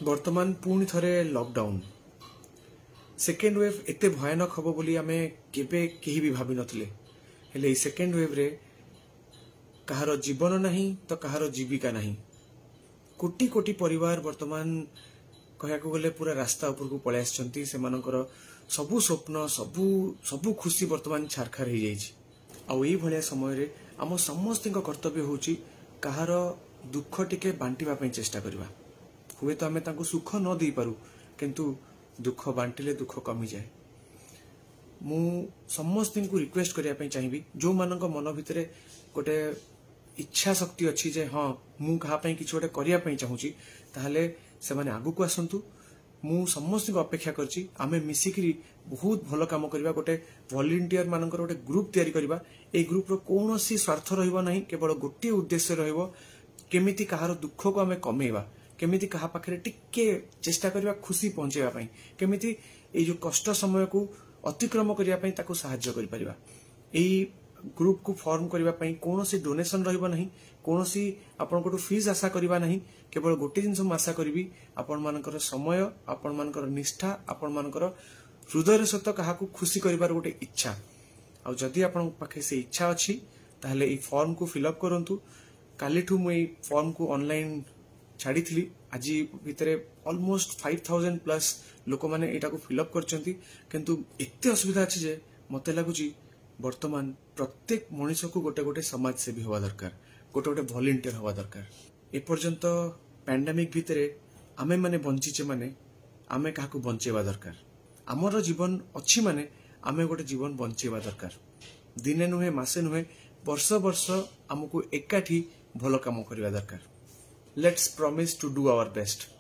ବର୍ତ୍ତମାନ ପୁଣି ଥରେ ଲକଡାଉନ, ସେକେଣ୍ଡ ୱେଭ୍ ଏତେ ଭୟାନକ ହେବ ବୋଲି ଆମେ କେବେ କେହି ବି ଭାବିନଥିଲେ। ହେଲେ ଏଇ ସେକେଣ୍ଡ ୱେଭ୍ରେ କାହାର ଜୀବନ ନାହିଁ ତ କାହାର ଜୀବିକା ନାହିଁ। କୋଟି କୋଟି ପରିବାର ବର୍ତ୍ତମାନ କହିବାକୁ ଗଲେ ପୁରା ରାସ୍ତା ଉପରକୁ ପଳେଇ ଆସିଛନ୍ତି। ସେମାନଙ୍କର ସବୁ ସ୍ୱପ୍ନ, ସବୁ ସବୁ ଖୁସି ବର୍ତ୍ତମାନ ଛାରଖାର ହେଇଯାଇଛି। ଆଉ ଏଇଭଳିଆ ସମୟରେ ଆମ ସମସ୍ତଙ୍କ କର୍ତ୍ତବ୍ୟ ହେଉଛି କାହାର ଦୁଃଖ ଟିକେ ବାଣ୍ଟିବା ପାଇଁ ଚେଷ୍ଟା କରିବା। ହୁଏତ ଆମେ ତାଙ୍କୁ ସୁଖ ନ ଦେଇପାରୁ, କିନ୍ତୁ ଦୁଃଖ ବାଣ୍ଟିଲେ ଦୁଃଖ କମିଯାଏ। ମୁଁ ସମସ୍ତଙ୍କୁ ରିକ୍ୱେଷ୍ଟ କରିବା ପାଇଁ ଚାହିଁବି, ଯେଉଁମାନଙ୍କ ମନ ଭିତରେ ଗୋଟେ ଇଚ୍ଛା ଶକ୍ତି ଅଛି ଯେ ହଁ, ମୁଁ କାହା ପାଇଁ କିଛି ଗୋଟେ କରିବା ପାଇଁ ଚାହୁଁଛି, ତାହେଲେ ସେମାନେ ଆଗକୁ ଆସନ୍ତୁ। ମୁଁ ସମସ୍ତଙ୍କୁ ଅପେକ୍ଷା କରିଛି। ଆମେ ମିଶିକିରି ବହୁତ ଭଲ କାମ କରିବା। ଗୋଟେ ଭଲେଣ୍ଟିୟର ମାନଙ୍କର ଗୋଟେ ଗ୍ରୁପ ତିଆରି କରିବା। ଏଇ ଗ୍ରୁପର କୌଣସି ସ୍ୱାର୍ଥ ରହିବ ନାହିଁ, କେବଳ ଗୋଟିଏ ଉଦ୍ଦେଶ୍ୟ ରହିବ, କେମିତି କାହାର ଦୁଃଖକୁ ଆମେ କମେଇବା, କେମିତି କାହା ପାଖରେ ଟିକେ ଚେଷ୍ଟା କରିବା ଖୁସି ପହଞ୍ଚେଇବା ପାଇଁ, କେମିତି ଏଇ ଯୋଉ କଷ୍ଟ ସମୟକୁ ଅତିକ୍ରମ କରିବା ପାଇଁ ତାକୁ ସାହାଯ୍ୟ କରିପାରିବା। ଏଇ ଗ୍ରୁପକୁ ଫର୍ମ କରିବା ପାଇଁ କୌଣସି ଡୋନେସନ ରହିବ ନାହିଁ, କୌଣସି ଆପଣଙ୍କଠୁ ଫିସ୍ ଆଶା କରିବା ନାହିଁ। କେବଳ ଗୋଟିଏ ଜିନିଷ ମୁଁ ଆଶା କରିବି, ଆପଣମାନଙ୍କର ସମୟ, ଆପଣମାନଙ୍କର ନିଷ୍ଠା, ଆପଣମାନଙ୍କର ହୃଦୟର ସହିତ କାହାକୁ ଖୁସି କରିବାର ଗୋଟେ ଇଚ୍ଛା। ଆଉ ଯଦି ଆପଣଙ୍କ ପାଖେ ସେ ଇଚ୍ଛା ଅଛି, ତାହେଲେ ଏଇ ଫର୍ମକୁ ଫିଲ୍ଅପ୍ କରନ୍ତୁ। କାଲିଠୁ ମୁଁ ଏଇ ଫର୍ମକୁ ଅନଲାଇନ ଛାଡ଼ିଥିଲି। ଆଜି ଭିତରେ ଅଲମୋଷ୍ଟ 5000 ପ୍ଲସ୍ ଲୋକମାନେ ଏଇଟାକୁ ଫିଲ୍ଅପ୍ କରିଛନ୍ତି। କିନ୍ତୁ ଏତେ ଅସୁବିଧା ଅଛି ଯେ ମତେ ଲାଗୁଛି ବର୍ତ୍ତମାନ ପ୍ରତ୍ୟେକ ମଣିଷକୁ ଗୋଟେ ଗୋଟେ ସମାଜସେବୀ ହେବା ଦରକାର, ଗୋଟେ ଗୋଟେ ଭଲେଣ୍ଟିୟର ହେବା ଦରକାର। ଏପର୍ଯ୍ୟନ୍ତ ପ୍ୟାଣ୍ଡାମିକ ଭିତରେ ଆମେମାନେ ବଞ୍ଚିଛେ ମାନେ ଆମେ କାହାକୁ ବଞ୍ଚେଇବା ଦରକାର। ଆମର ଜୀବନ ଅଛି ମାନେ ଆମେ ଗୋଟେ ଜୀବନ ବଞ୍ଚେଇବା ଦରକାର। ଦିନେ ନୁହେଁ, ମାସେ ନୁହେଁ, ବର୍ଷ ବର୍ଷ ଆମକୁ ଏକାଠି ଭଲ କାମ କରିବା ଦରକାର। Let's promise to do our best.